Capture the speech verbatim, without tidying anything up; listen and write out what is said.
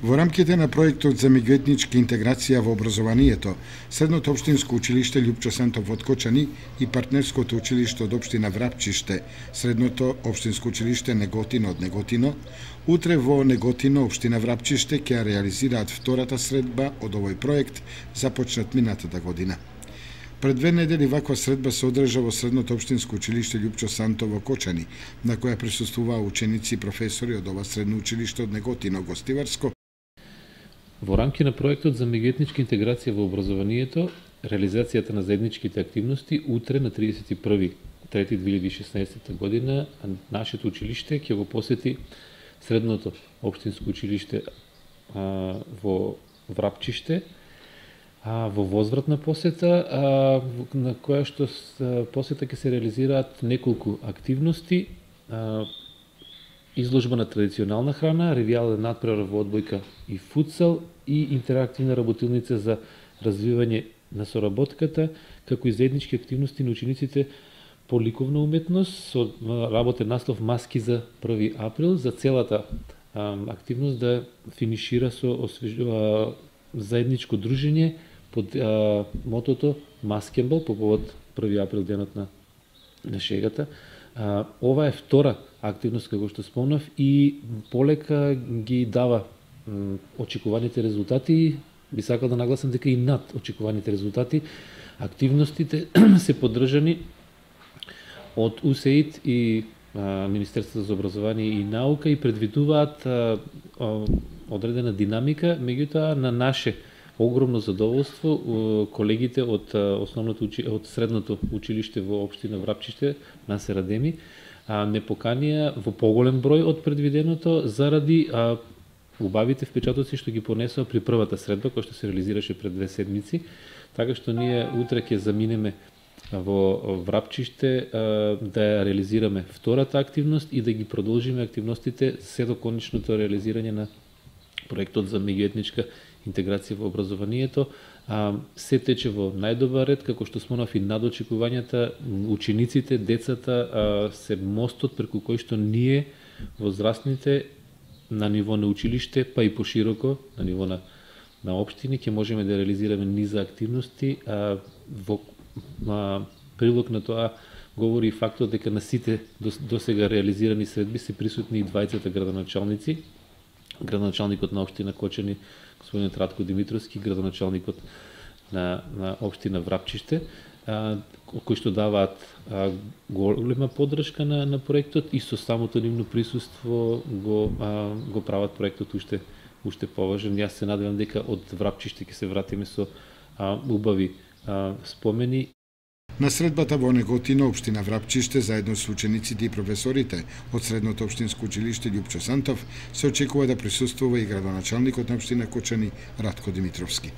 Во рамките на проектот за меѓуетничка интеграција во образованието, Средното општинско училиште Љупчо Сантов од Кочани и партнерското училиште од општина Врапчиште, Средното општинско училиште Неготино од Неготино, утре во Неготино, општина Врапчиште, ќе реализираат втората средба од овој проект, започнат минатата година. Пред две недели ваква средба се одржа во Средното општинско училиште Љупчо Сантов во Кочани, на која присуствуваа ученици и професори од ова средно училиште од Неготино, Гостиварско. Во рамки на проектот за меѓуетничка интеграција во образованието, реализацијата на заедничките активности, утре на тридесет и први трети две илјади и шеснаесетта година, нашето училиште ќе го посети Средното општинско училиште а, во Врапчиште, а, во возвратна посета, а, на која што посета ќе се реализираат неколку активности, а, изложба на традиционална храна, ревијален надпревар во одбојка и футсал и интерактивна работилница за развивање на соработката, како и заеднички активности на учениците по ликовна уметност со работен наслов Маски за први април, за целата а, активност да финишира со освежува заедничко дружење под а, мотото Маскенбал по повод први април, денот на, на шегата. А, ова е втора активност, како што спомнав, и полека ги дава м, очекуваните резултати. Би сакал да нагласам дека и над очекуваните резултати активностите се поддржани од У С И Д и а, Министерството за образование и наука и предвидуваат а, а, одредена динамика, меѓутоа на наше огромно задоволство колегите од основното учи... од средното училиште во општина Врапчиште на Серадеми а, не поканија во поголем број од предвиденото заради а, убавите впечатоци што ги понесоа при првата средба која што се реализираше пред две седмици, така што ние утре ќе заминеме во Врапчиште а, да ја реализираме втората активност и да ги продолжиме активностите се до конечното реализирање на проектот за меѓуетничка интеграција во образованието. А, се тече во најдобар ред, како што спомнав и над очекувањата, учениците, децата а, се мостот преку кој што ние возрастните на ниво на училиште, па и пошироко на ниво на, на општини ќе можеме да реализираме низа активности. А, во а, прилог на тоа говори и фактот дека на сите досега реализирани средби се присутни и двајцата градоначалници, градоначалникот на општина Кочани господин Тратко Димитровски, градоначалникот на, на општина Врапчиште, а, кои што даваат а, голема поддршка на, на проектот и со самото нивно присуство го, а, го прават проектот уште, уште поважен. Јас се надевам дека од Врапчиште ќе се вратиме со а, убави а, спомени. На средбата во Неготино, општина Врапчиште, заедно со учениците и професорите од Средното општинско училиште Љупчо Сантов, се очекува да присуствува и градоначалникот на општина Кочани Ратко Димитровски.